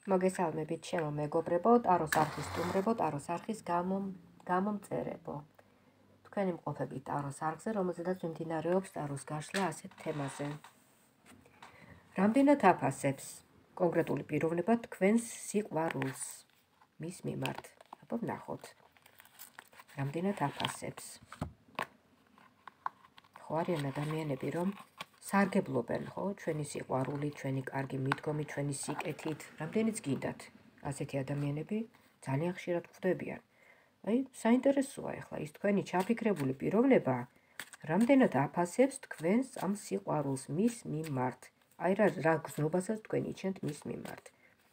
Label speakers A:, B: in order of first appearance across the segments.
A: მოგესალმებით ჩემო მეგობრებო, ტაროს არხის სტუმრებო, ტაროს არხის გამომწერებო. თქვენი მყოფებით ტაროს არხზე, რომელზედაც მიმდინარეობს ტაროს გაშლა ასეთ თემაზე. რამდენად აფასებს კონკრეტული პიროვნება თქვენს სიყვარულს მის მიმართ? აბა ვნახოთ. რამდენად აფასებს? ხო არიან ადამიანები, რომ სარგებლობენ, ხო, ჩვენი სიყვარული, ჩვენი კარგი მიდგომი, ჩვენი სიკეთით, რამდენიც გინდათ. ასეთი ადამიანები ძალიან ხშირად გვხვდებიან. აი, საინტერესოა ახლა ის თქვენი ჩაფიქრებული პიროვნება, რამდენად აფასებს თქვენს ამ სიყვარულს მის მიმართ. აი რა გზნობასაც თქვენ იჩენთ მის მიმართ.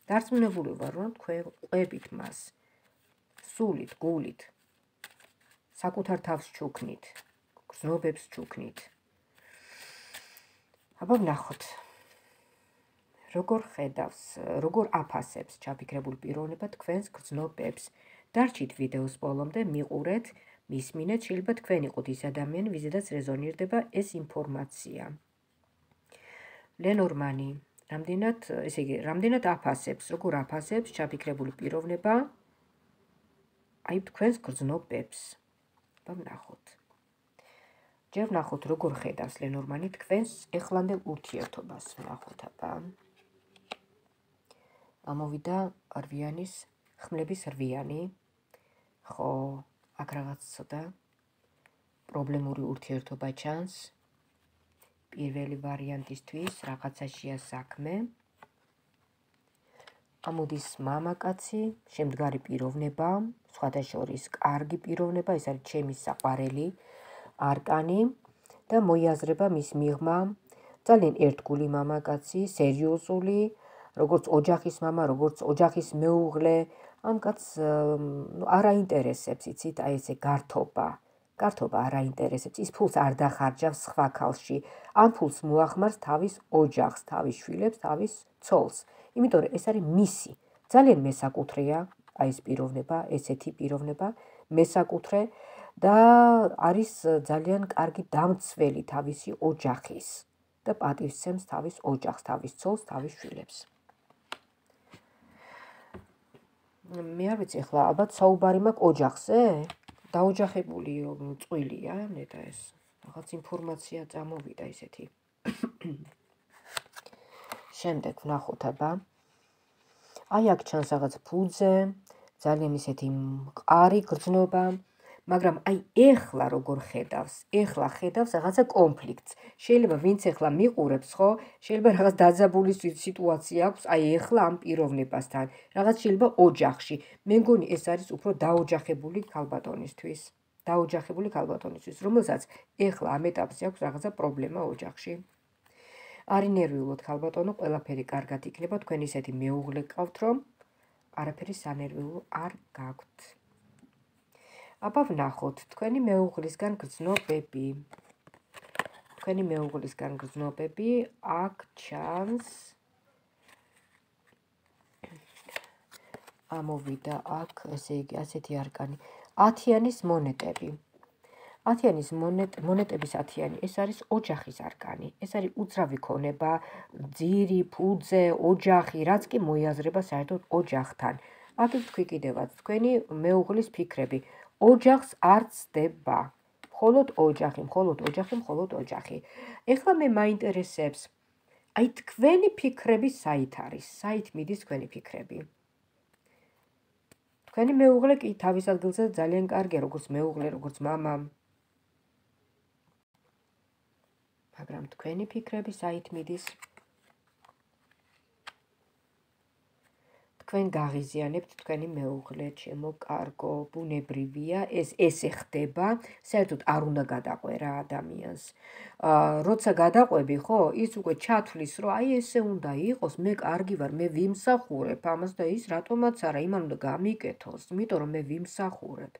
A: დარწმუნებული ვარ, რომ თქვენ ყვებით მას. სულით, გულით, საკუთარ თავს ჩუქნით, გზნობებს ჩუქნით. აბა ვნახოთ. როგორ ხედავს, როგორ აფასებს ჩაფიქრებული პიროვნება თქვენს გრძნობებს. დარჩით ვიდეოს ბოლომდე, მიყურეთ, მისმინეთ, შეიძლება თქვენ იყოთ ის ადამიანი, ვიზედაც რეზონირდება ეს ინფორმაცია. ლენორმანი, რამდენად აფასებს, როგორ აფასებს ჩაფიქრებული პიროვნება აი თქვენს გრძნობებს. აბა ვნახოთ. ჯერ ვნახოთ, როგორ ხედავს ლენორმანი თქვენს ეხლანდელ ურთიერთობას. ვნახოთ, აბა. ამოვიდა რვიანის ხმლების რვიანი. ხო, აქ რაღაც ცოტა პრობლემური ურთიერთობა ჩანს. პირველი ვარიანტისთვის რაღაცაშია საქმე. ამოდის მამაკაცი, შემდგარი პიროვნება, სხვათა შორის კარგი პიროვნება, ეს არის ჩემი საყვარელი არკანი და მოიაზრება მის მიღმა ძალიან ერთგული მამაკაცი, სერიოზული, როგორც ოჯახის მამა, როგორც ოჯახის მეუღლე, ამ კაცს არ აინტერესებს, იცით, აი ესე გართობა არ აინტერესებს, ის ფულს არ დახარჯავს სხვა ქალში, ამ ფულს მოახმარს თავის ოჯახს, თავის შვილებს, თავის ცოლს, იმიტომ რომ ეს არის მისი, ძალიან მესაკუთრეა, აი ეს პიროვნება, ესეთი პიროვნება, მესაკუთრე და არის ძალიან კარგი დამცველი თავისი ოჯახის და პატივსცემს თავის ოჯახს, თავის ცოლს, თავის შვილებს. მე არ ვიცი, ახლა ალბათ საუბარი მაქვს ოჯახზე? დაოჯახებული წყვილია, ნეტა ეს რაღაც ინფორმაცია წამოვიდა ისეთი. შემდეგ ვნახოთ, აბა. აი აქ ჩანს რაღაც ფუძე, ძალიან ისეთი მყარი გრძნობა, მაგრამ აი ეხლა როგორ ხედავს? ეხლა ხედავს რაღაცა კონფლიქტს. შეიძლება ვინც ეხლა მიყურებს, ხო? შეიძლება რაღაც დაძაბული სიტუაცია აქვს აი ეხლა ამ პიროვნებასთან. რაღაც შეიძლება ოჯახში. მე მგონი ეს არის უფრო დაოჯახებული ქალბატონისთვის. რომელსაც ეხლა ამ ეტაპზე აქვს რაღაცა პრობლემა ოჯახში. არი ნერვიულოთ ქალბატონო, ყველაფერი კარგად იქნება, თქვენ ისეთი მეუღლე გყავთ, რომ არაფერი სანერვიულო არ გაქვთ. აბა ვნახოთ, თქვენი მეუღლისგან გრძნობები, აქ ჩანს, ამოვიდა აქ, ესე იგი, ასეთი არკანი, 10-იანის მონეტები. 10-იანის მონეტების 10-იანი, ეს არის ოჯახის არკანი, ეს არის უძრავი ქონება, ძირი, ფუძე, ოჯახი, რაც კი მოიაზრება საერთოდ ოჯახთან. აქ თქვი კიდევაც, თქვენი მეუღლის ფიქრები, ოჯახს არ ცდება, მხოლოდ ოჯახი. ეხლა მე მაინტერესებს, აი თქვენი ფიქრები საით არის, საით მიდის თქვენი ფიქრები? თქვენი მეუღლე კი თავის ადგილზე ძალიან კარგია, როგორც მეუღლე, როგორც მამა. მაგრამ თქვენი ფიქრები საით მიდის? თქვენ გაღიზიანებთ თქვენი მეუღლე, ჩემო კარგო, ბუნებრივია, ესე ხდება, საერთოდ არ უნდა გადაყვე რა ადამიანს. როცა გადაყვები, ხო, ის უკვე ჩათვლის, რომ აი ესე უნდა იყოს, მე კარგი ვარ, მე ვიმსახურებ ამას და ის რატომაც არა, იმან უნდა გამიკეთოს, იმიტომ რომ მე ვიმსახურებ.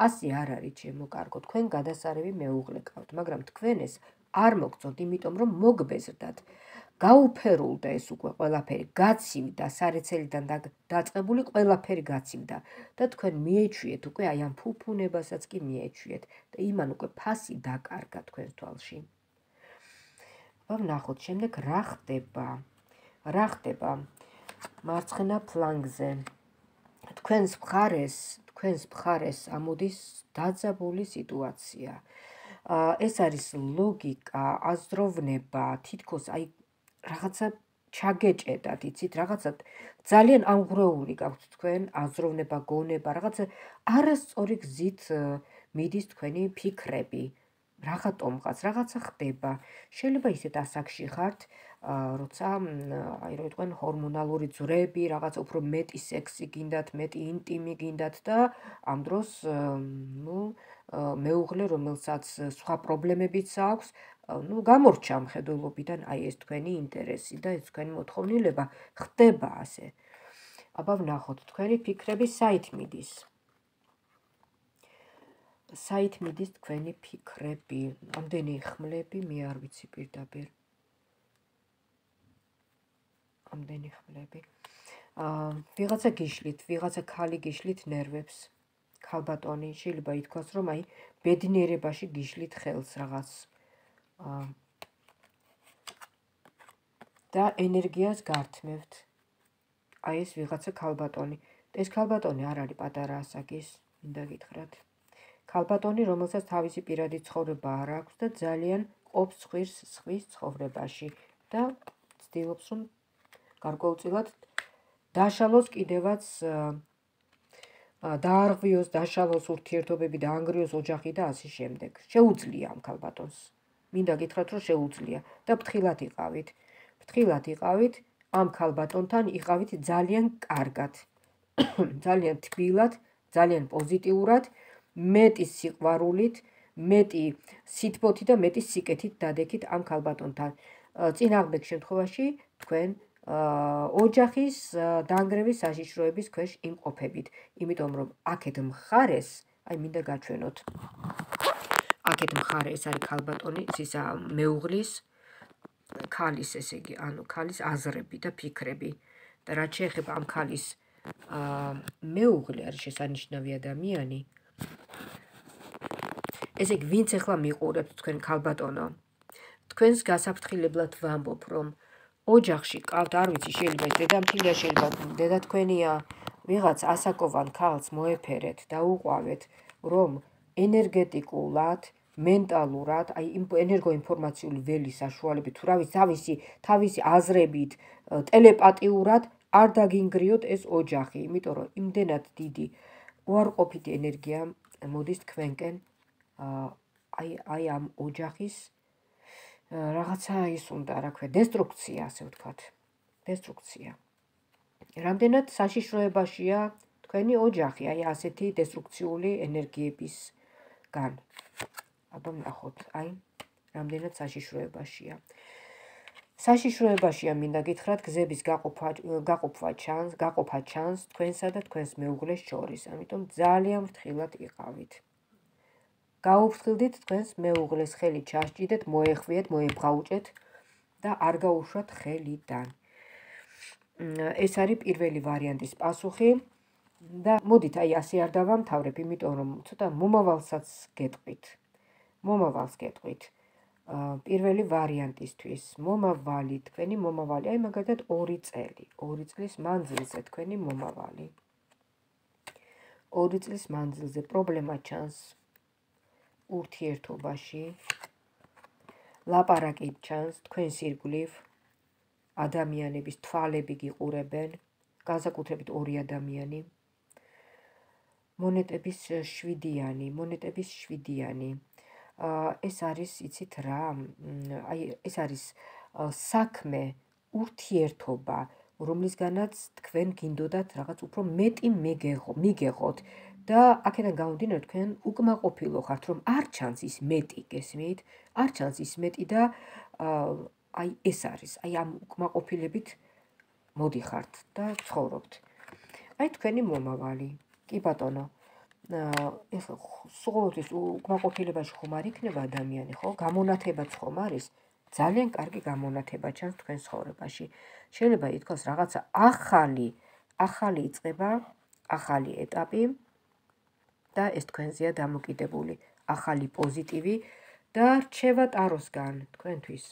A: ასე არ არის, ჩემო კარგო, თქვენ გადასარევი მეუღლე გყავთ, მაგრამ თქვენ ეს არ მოგწონთ, იმიტომ რომ მოგბეზრდათ. გაუფერულდა ეს უკვე ყველაფერი, გაცივდა, სარეცელიდან დაწყებული ყველაფერი გაცივდა და თქვენ მიეჩვიეთ უკვე აი ამ ფუფუნებასაც კი მიეჩვიეთ და იმან უკვე ფასი დაკარგა თქვენს თვალში. აბა ვნახოთ, შემდეგ რა ხდება? მარცხენა ფლანგზე. თქვენს მხარეს ამოდის დაძაბული სიტუაცია. ეს არის ლოგიკა, აზროვნება, თითქოს აი რაღაცა ჩაგეჭედათ, იცით, რაღაცა ძალიან ამღვრეული გაქვთ თქვენ აზროვნება, გონება, რაღაცა არასწორი გზით მიდის თქვენი ფიქრები. რაღაცომღაც, რაღაცა ხდება. შეიძლება ისეთ ასაკში ხართ, როცა აი რო იტყვენ ჰორმონალური ძვრები, რაღაც უფრო მეტი სექსი გინდათ, მეტი ინტიმი გინდათ და ამ დროს მეუღლე, რომელსაც სხვა პრობლემებიც აქვს, გამორჩა მხედველობიდან აი ეს თქვენი ინტერესი და ეს თქვენი მოთხოვნილება ხდება ასე. აბა ვნახოთ, თქვენი ფიქრები საით მიდის? საით მიდის თქვენი ფიქრები? ამდენი ხმლები, მე არ ვიცი პირდაპირ. ამდენი ხმლები. ვიღაცა გიშლით, ვიღაცა ქალი გიშლით ნერვებს. ქალბატონი, შეიძლება ითქვას, რომ აი ბედნიერებაში გიშლით ხელს რაღაც. და ენერგიას გართმევთ. აი ეს ვიღაცა ქალბატონი. ეს ქალბატონი არ არის პატარა ასაკის, მინდა გითხრათ. ქალბატონი, რომელსაც თავისი პირადი ცხოვრება არ აქვს და ძალიან ყოფს სხვის ცხოვრებაში და ცდილობს, რომ გარკვეულწილად დაშალოს კიდევაც დაარღვიოს, დაშალოს ურთიერთობები, დაანგრიოს ოჯახი და ასე შემდეგ. შეუძლია ამ ქალბატონს. მინდა გითხრათ, რომ შეუძლია და ფრთხილად იყავით. ფრთხილად იყავით, ამ ქალბატონთან იყავით ძალიან კარგად. ძალიან თბილად, ძალიან პოზიტიურად, მეტი სიყვარულით, მეტი სითბოთი და მეტი სიკეთით დადექით ამ ქალბატონთან. წინააღმდეგ შემთხვევაში თქვენ ოჯახის დანგრევის საშიშროების ქვეშ იმყოფებით, იმიტომ რომ აქეთ მხარეს, აი მინდა გაჩვენოთ. აქეთ მხარე ეს არის ქალბატონი, ისა მეუღლის, ქალის, ესე იგი, ანუ ქალის აზრები და ფიქრები. და რაც შეეხება ამ ქალის მეუღლე არის შესანიშნავი ადამიანი. ესე იგი, ვინც ახლა მიყურებთ თქვენ ქალბატონო, თქვენს გასაფრთხილებლად ვამბობ, რომ ოჯახში ყავთ, არ ვიცი, შეიძლება ეს დედამთილია, შეიძლება დედა თქვენია, ვიღაც ასაკოვან ქალს მოეფერეთ და უყვავეთ, რომ ენერგეტიკულად, მენტალურად, აი ენერგოინფორმაციული ველის საშუალებით, თუ თავისი აზრებით, ტელეპათიურად არ დაგინგრიოთ ეს ოჯახი, იმიტომ რომ იმდენად დიდი უარყოფითი ენერგია მოდის თქვენკენ, აი ამ ოჯახის რაღაცა ის უნდა, რა ქვია, დესტრუქცია, ასე ვთქვათ. დესტრუქცია. რამდენად საშიშროებაშია თქვენი ოჯახი, აი ასეთი დესტრუქციული ენერგიებისგან. აბა ვნახოთ, აი რამდენად საშიშროებაშია. საშიშროებაშია, მინდა გითხრათ, გზების გაყოფა ჩანს თქვენსა და თქვენს მეუღლეს შორის, ამიტომ ძალიან ფრთხილად იყავით. გაუფრთხილდით თქვენს მეუღლეს, ხელი ჩასჭიდეთ, მოეხვიეთ, მოებღაუჭეთ და არ გაუშვათ ხელიდან. ეს არის პირველი ვარიანტის პასუხი და მოდით აი ასე არ დავამთავრებ, იმიტომ რომ ცოტა მომავალსაც გეტყვით. მომავალს გეტყვით. პირველი ვარიანტისთვის მომავალი, თქვენი მომავალი, აი მაგალითად 2 წელი, 2 წლის მანძილზე თქვენი მომავალი. 2 წლის მანძილზე პრობლემა ჩანს ურთიერთობაში, ლაპარაკი ჩანს თქვენს ირგვლივ, ადამიანების თვალები გიყურებენ, განსაკუთრებით 2 ადამიანი. მონეტების 7-იანი. ეს არის, იცით რა, აი ეს არის საქმე, ურთიერთობა, რომლისგანაც თქვენ გინდოდათ რაღაც უფრო მეტი მიგეღოთ და აქედან გამომდინარე თქვენ უკმაყოფილო ხართ, რომ არ ჩანს ის მეტი, გესმით? არ ჩანს ის მეტი და აი ეს არის, აი ამ უკმაყოფილებით მოდიხართ და ცხოვრობთ. აი თქვენი მომავალი. კი ბატონო, ეს ყოველთვის უკმაყოფილებაში ხომ არ იქნება ადამიანი, ხო? გამონათებაც ხომ არის? ძალიან კარგი გამონათება ჩანს თქვენ ცხოვრებაში. შეიძლება ითქვას რაღაცა ახალი იწყება, ახალი ეტაპი და ეს თქვენზეა დამოკიდებული, ახალი პოზიტივი და რჩევა ტაროსგან თქვენთვის.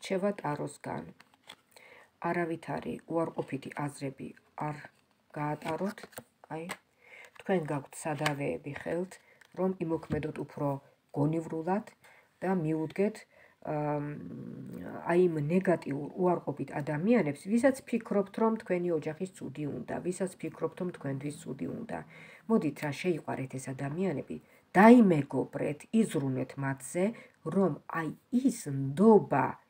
A: რჩება ტაროსგან. არავითარი უარყოფითი აზრები არ გაატაროთ, თქვენ გაქვთ სადავეები ხელთ, რომ იმოქმედოთ უფრო გონივრულად და მიუდგეთ იმ ნეგატიურ უარყოფით ადამიანებს, ვისაც ფიქრობთ, რომ თქვენი ოჯახის ცუდი უნდა, ვისაც ფიქრობთ, რომ თქვენთვის ცუდი უნდა. მოდით რა შეიყვარეთ ეს ადამიანები, დაიმეგობრეთ, იზრუნეთ მათზე, რომ ის ნდობა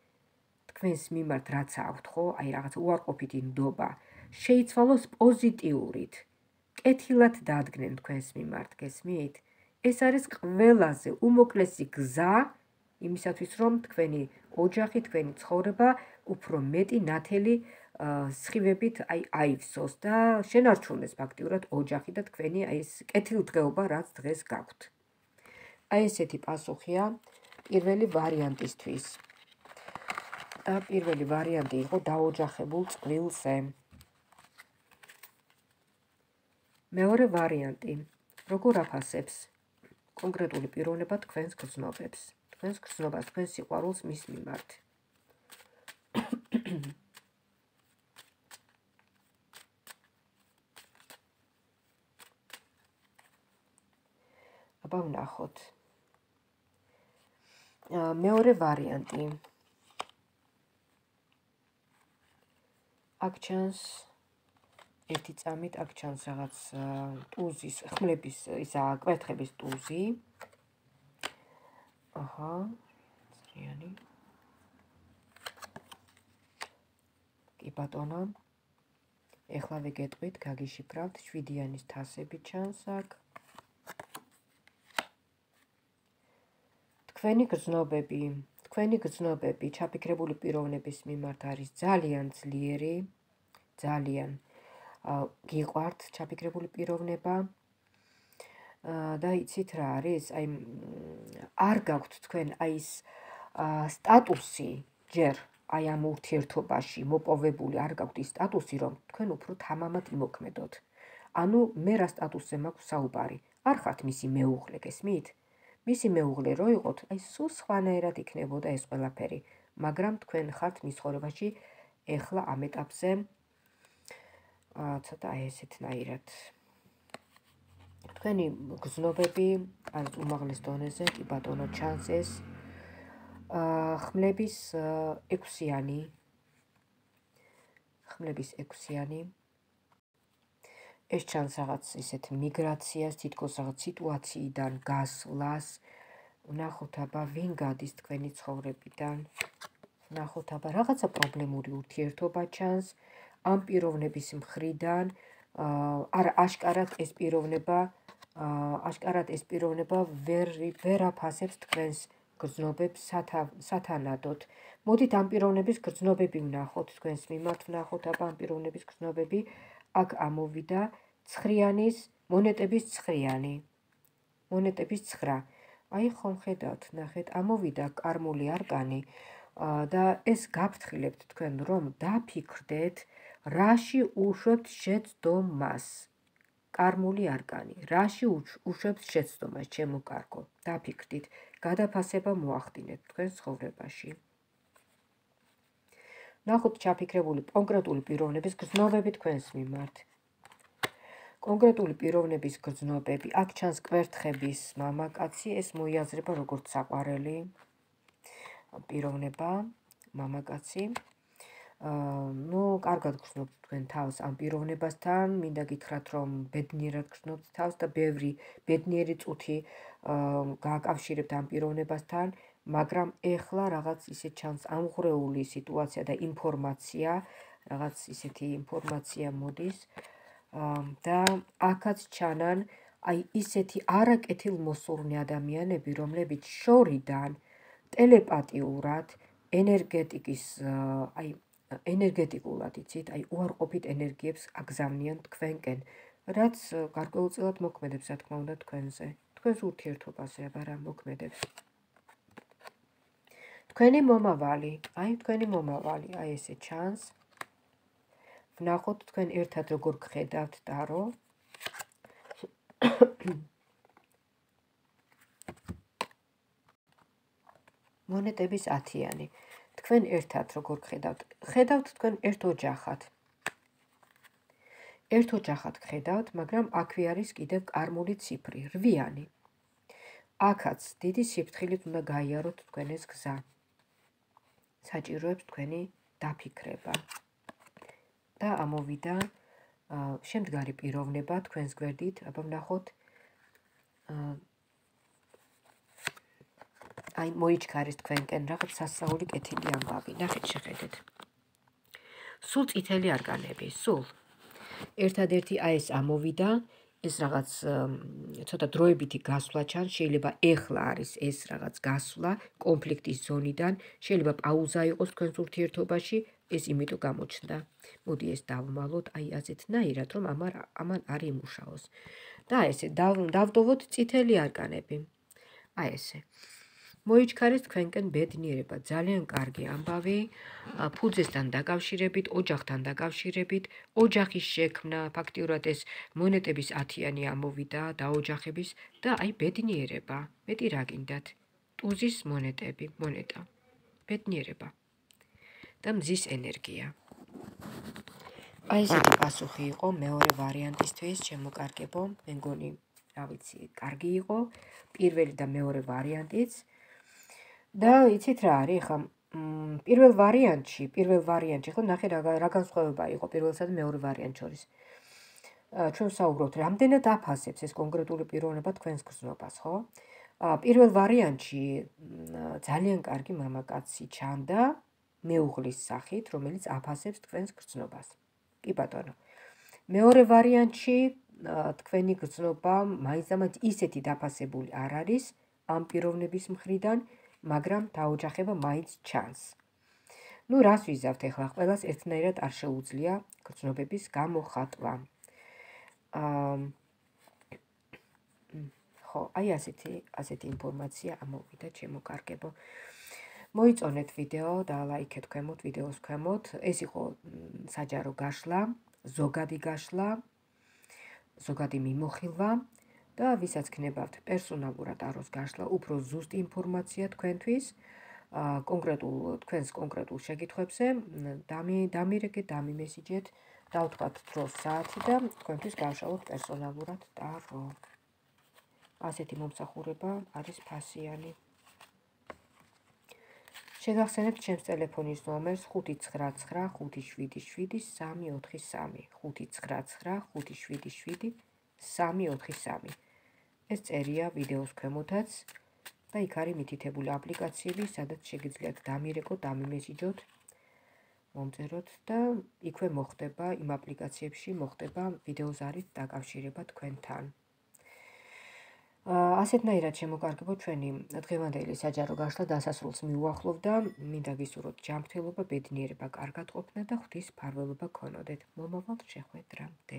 A: თქვენს მიმართ რაც აქვთ, ხო, რაღაც უარყოფითი ნდობა, შეიცვალოს პოზიტიურით, კეთილად დადგნენ თქვენს მიმართ, გესმით? ეს არის ყველაზე უმოკლესი გზა იმისათვის, რომ თქვენი ოჯახი, თქვენი ცხოვრება უფრო მეტი ნათელი სხივებით აივსოს და შენარჩუნდეს ფაქტიურად ოჯახი და თქვენი ეს კეთილდღეობა, რაც დღეს გაქვთ. ესეთი პასუხია პირველი ვარიანტისთვის. და პირველი ვარიანტი იყო დაოჯახებულ წყვილზე. მეორე ვარიანტი, როგორ აფასებს კონკრეტული პიროვნება თქვენს გრძნობებს, თქვენს გრძნობას, თქვენს სიყვარულს მის მიმართ. აბა ვნახოთ. მეორე ვარიანტი. აქ ჩანს ერთი წამით, აქ ჩანს რაღაც ტუზის, ხმლების, კვერთხების ტუზი. ძრიანი. კი ბატონო. ეხლავე გეტყვით, გაგიშიფრავთ, 7-იანის თასები ჩანს აქ. თქვენი გრძნობები ჩაფიქრებული პიროვნების მიმართ არის ძალიან ძლიერი, ძალიან გიყვართ ჩაფიქრებული პიროვნება და იცით რა არის, არ გაქვთ თქვენ ის სტატუსი ჯერ ამ ურთიერთობაში მოპოვებული, არ გაქვთ ის სტატუსი, რომ თქვენ უფრო თამამად იმოქმედოთ. ანუ მე რა სტატუსზე მაქვს საუბარი, არ ხართ მისი მეუღლე, გესმით? მისი მეუღლე რო იყოთ, სულ სხვანაირად იქნებოდა ეს ყველაფერი, მაგრამ თქვენ ხართ მის ცხოვრებაში ეხლა ამ ეტაპზე ცოტა ესეთნაირად. თქვენი გრძნობები არის უმაღლეს დონეზე, კი ბატონო, ჩანს ეს ხმლების 6-იანი. ეს ჩანს რაღაც ისეთ მიგრაციას, თითქოს რაღაც სიტუაციიდან გასვლას. ვნახოთ აბა ვინ გადის თქვენი ცხოვრებიდან. ვნახოთ აბა რაღაცა პრობლემური ურთიერთობა ჩანს ამ პიროვნების მხრიდან. არა, აშკარად ეს პიროვნება ვერ აფასებს თქვენს გრძნობებს სათანადოდ. მოდით ამ პიროვნების გრძნობები ვნახოთ, თქვენს მიმართ ვნახოთ აბა ამ პიროვნების გრძნობები. აქ ამოვიდა მონეტების 9. მონეტების 9. ხომ ხედავთ, ნახეთ, ამოვიდა კარმული არკანი და ეს გაფრთხილებთ თქვენ, რომ დაფიქრდეთ, რაში უშვებთ შეცდომას. კარმული არკანი, რაში უშვებთ შეცდომას, ჩემო კარგო, დაფიქრდით, გადაფასება მოახდინეთ თქვენ ცხოვრებაში. ნახოთ ჩაფიქრებული კონკრეტული პიროვნების გრძნობები თქვენს მიმართ. კონკრეტული პიროვნების გრძნობები, აქ ჩანს კვერთხების მამაკაცი, ეს მოიაზრება როგორც საყვარელი პიროვნება, მამაკაცი. კარგად გრძნობთ თქვენ თავს ამ პიროვნებასთან, მინდა გითხრათ, რომ ბედნიერად გრძნობთ თავს და ბევრი ბედნიერი წუთი გააკავშირებთ ამ პიროვნებასთან, მაგრამ ეხლა რაღაც ისე ჩანს ამღვრეული სიტუაცია და ინფორმაცია, რაღაც ისეთი ინფორმაცია მოდის და აქაც ჩანან ისეთი არაკეთილმოსურნე ადამიანები, რომლებიც შორიდან ტელეპათიურად ენერგეტიკულად, იცით, უარყოფით ენერგიებს აგზავნიან თქვენკენ, რაც გარკვეულწილად მოქმედებს, რა თქმა უნდა, თქვენზე, თქვენს ურთიერთობაზე, აბა რა მოქმედებს. თქვენი მომავალი, ესე ჩანს. ვნახოთ თქვენ ერთად როგორ გხედავთ ტარო. მონეტების 10-იანი. თქვენ ერთად როგორ ხედავთ? ხედავთ თქვენ ერთ ოჯახად. ერთ ოჯახად ხედავთ, მაგრამ აქვე არის კიდევ კარმული ციფრი, 8-იანი. აქაც დიდი სიფრთხილით უნდა გაიაროთ თქვენ ეს გზა. საჭიროებს თქვენი დაფიქრება. და ამოვიდა შემდგარი პიროვნება თქვენს გვერდით, აბა ვნახოთ აი მოიჩქარეს თქვენკენ რაღაც სასწაული კეთილი ამბავი. ნახეთ შეხედეთ. სულ წითელი არკანები, სულ. ერთადერთი აი ეს ამოვიდა, ეს რაღაც ცოტა დროებითი გასვლა ჩანს, შეიძლება ეხლა არის ეს რაღაც გასვლა კონფლიქტის ზონიდან, შეიძლება პაუზა იყოს თქვენს ურთიერთობაში, ეს იმიტომ გამოჩნდა. მოდი ეს დავმალოთ, აი ასეთნაირად, რომ ამან არ იმუშაოს. და ესე დავტოვოთ წითელი არკანები. აი ესე. მოიჩქარეს თქვენკენ ბედნიერება, ძალიან კარგი ამბავი, ფუძესთან დაკავშირებით, ოჯახთან დაკავშირებით, ოჯახის შექმნა, ფაქტიურად ეს მონეტების 10-იანი ამოვიდა დაოჯახების და აი ბედნიერება. მეტი რა გინდათ? ტუზის მონეტები, მონეტა. ბედნიერება. და მზის ენერგია. აი ესეთი პასუხი იყო მეორე ვარიანტისთვის, შემოკარგებო, მე მგონი, რა ვიცი, კარგი იყო, პირველი და მეორე ვარიანტიც. და იცით რა არის, ხა პირველ ვარიანტში, ხო ნახე რა განსხვავება იყო პირველსა და მეორე ვარიანტ შორის. ჩვენ ვსაუბრობთ, რამდენად აფასებს ეს კონკრეტული პიროვნება თქვენს გრძნობას, ხო? პირველ ვარიანტში ძალიან კარგი მამაკაცი ჩანდა მეუღლის სახით, რომელიც აფასებს თქვენს გრძნობას. კი ბატონო. მეორე ვარიანტში თქვენი გრძნობა მაინც ისეთი დაფასებული არ არის ამ პიროვნების მხრიდან, მაგრამ დაოჯახება მაინც ჩანს. ნუ რას ვიზავთ ახლა, ყველას ერთნაირად არ შეუძლია გრძნობების გამოხატვა. ხო, აი ასეთი ინფორმაცია ამოვიდა, შემოკარგებო. მოიწონეთ ვიდეო და ლაიქეთ ქვემოთ, ვიდეოს ქვემოთ. ეს იყო საჯარო გაშლა, ზოგადი გაშლა, ზოგადი მიმოხილვა და ვისაც გნებავთ პერსონალურად აროს გაშლა, უფრო ზუსტი ინფორმაცია თქვენთვის, თქვენს კონკრეტულ შეკითხვებზე, დამირეკეთ, დამიმესიჯეთ, დავთქვათ დროს საათი და თქვენთვის გავშალოთ პერსონალურად ტარო. ასეთი მომსახურება არის ფასიანი. შეგახსენებთ ჩემს ტელეფონის ნომერს 599577343, 599577343. ეს წერია ვიდეოს ქვემოთაც და იქ არის მითითებული აპლიკაციები, სადაც შეგიძლიათ დამირეკოთ, დამიმესიჯოთ, მომწეროთ და იქვე მოხდება, იმ აპლიკაციებში მოხდება ვიდეოზარით დაკავშირება თქვენთან. ასეთნაირად შემოკარგებო ჩვენი დღევანდელი საჯარო გაშლა დასასრულს მიუახლოვდა, მინდა გისურვოთ ჯანმრთელობა, ბედნიერება, კარგად ყოფნა და ღვთის მფარველობა გქონოდეთ. მომავალ შეხვედრამდე.